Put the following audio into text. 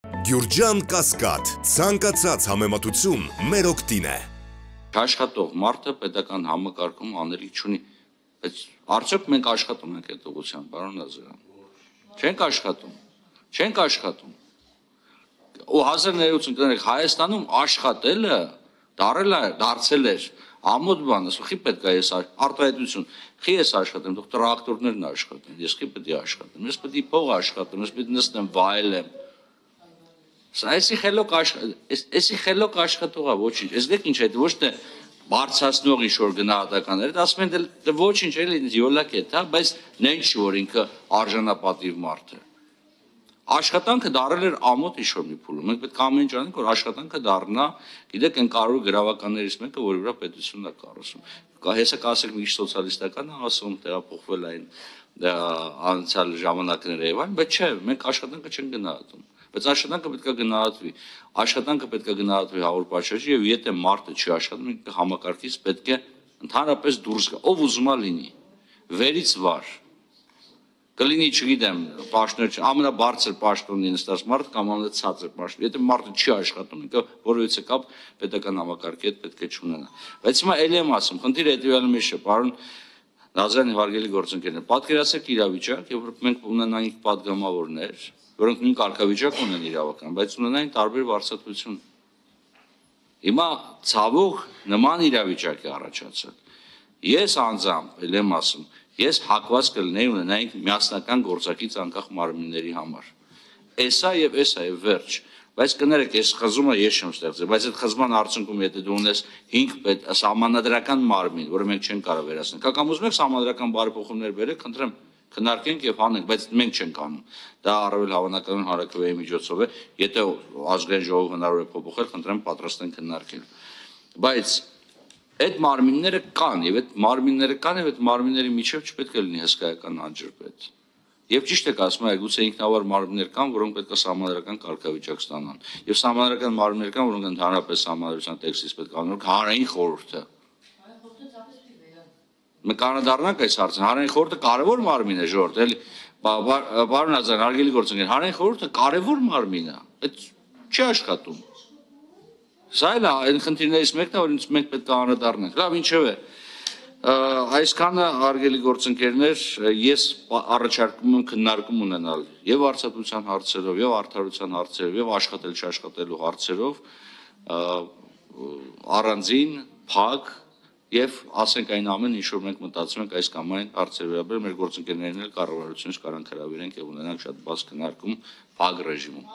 Գյուրջան Կասկադ, ցանկացած համեմատություն մեր օգտին է։ Աշխատող մարդը պետական համակարգում անելիք չունի, բայց արդյոք մենք աշխատում ենք այդ ուղղությամբ, պարոն Նազարյան։ Չենք աշխատում։ Ու 1980-ականներին Հայաստանում աշխատելը դարձել էր ամոթ բան, ասում խի պետք է ես արտահայտություն, խի ես աշխատեմ, թող տրակտորներն աշխատեն, ես խի պետք է աշխատեմ, ես պետք է փող աշխատեմ, ես պետք է նստեմ վայելեմ։ Այսի խելոք աշխատողա ոչինչ, ես դեք ինչ է, ոչ թե բարձրացնող ինչ-որ գնահատականներ, ասում են դե ոչինչ էլի յոլակ է, բայց նենց չի, որ ինքը արժանապատիվ մարդ է։ Աշխատանքը դարել էր ամոթ ինչ-որ մի փուլում, մենք պետք է ամեն ինչ անենք, որ աշխատանքը դառնա, գիտեք, այն կարևոր գրավականներից մեկը, որի վրա պետությունն է կառուցում։ Հեսա կասեք մի սոցիալիստական ասում, տեղափոխվել այն անցյալ ժամանակները եւ այլն, բայց չէ, մենք աշխատանքը չենք գնահատում։ Բայց աշխատանքը պետք է գնահատվի։ Աշխատանքը պետք է գնահատվի հավոր պատշաճի եւ եթե մարդը չի աշխատում, համակարգից պետք է ընդհանրապես դուրս գա, ով ուզում է լինի։ Վերից վար։ Կլինի, չգիտեմ, պաշտոն, ամենաբարձր պաշտոնի նստած մարդ կամ ամենացածր պաշտոն։ Եթե մարդը չի աշխատում, ինքը որևիցե կապ պետական համակարգի հետ պետք է չունենա։ Բայց հիմա ելի եմ ասում, խնդիրը հետեւյալը մեջ է, պարոն Նազարյան, հարգելի գործընկերներ, պատկերացրեք իրավիճակ, երբ մենք ունենանք падգամավորներ, որոնք նույն կարգավիճակ ունեն իրավական, բայց ունենային տարբեր վարձատրություն։ Հիմա ցավոք նման իրավիճակ է առաջացել։ Ես անձամբ, ել եմ ասում, ես հակված կլինեի ունենայինք միասնական գործակից անկախ մարմինների համար։ Էսա եւ վերջ։ Բայց կներեք, ես խզումը ես չեմ ստեղծել, բայց այդ խզման արդյունքում եթե դու ունես 5 սահմանադրական մարմին, որը մենք չենք կարող վերացնել, կամ ուզում եք սահմանադրական բարեփոխումներ բերեք, խնդրեմ քննարկենք եւ հանենք, բայց մենք չենք անում։ Դա առավել հավանականon հանրաքվեի միջոցով է, եթե ազգային ժողովը հնարավոր է փոփոխել, խնդրեմ պատրաստ ենք քննարկել։ Բայց այդ մարմինները կան եւ այդ մարմինների միջև չպետք է լինի հսկայական անջրպետ։ Եվ ճիշտ եք ասում, գուցե ինքնավար մարմիններ կան, որոնք պետք է սահմանադրական կարգավիճակ ստանան։ Եվ սահմանադրական մարմիններ կան, որոնք ընդհանրապես սահմանադրության տեքստից պետք է անեն հանրային խորհուրդը։ Մենք անդառնանք այս հարցը, հանրային խորհուրդը կարևոր մարմին է, ժողովուրդ, էլի, պարոն Նազարյան, հարգելի գործընկեր, հանրային խորհուրդը կարևոր մարմին է, այդ չի աշխատում։ Սա էլ այն խնդիրներից մեկն է, որ մենք պետք է անդառնանք։ Լավ, ինչևէ, այսքանը հարգելի գործընկերներ, ես առաջարկում եմ քննարկում ունենալ եւ վարձատրության հարցերով, եւ արդարության հարցերով, եւ աշխատել չաշխատելու հարցերով առանձին, փակ եւ ասենք այն ամեն ինչ որ մենք մտածում ենք այս կամ այն հարցերի վերաբերյալ մեր գործընկերներն էլ կառավարությունից կարան հրավիրենք եւ ունենանք շատ բաց քննարկում փակ ռեժիմում։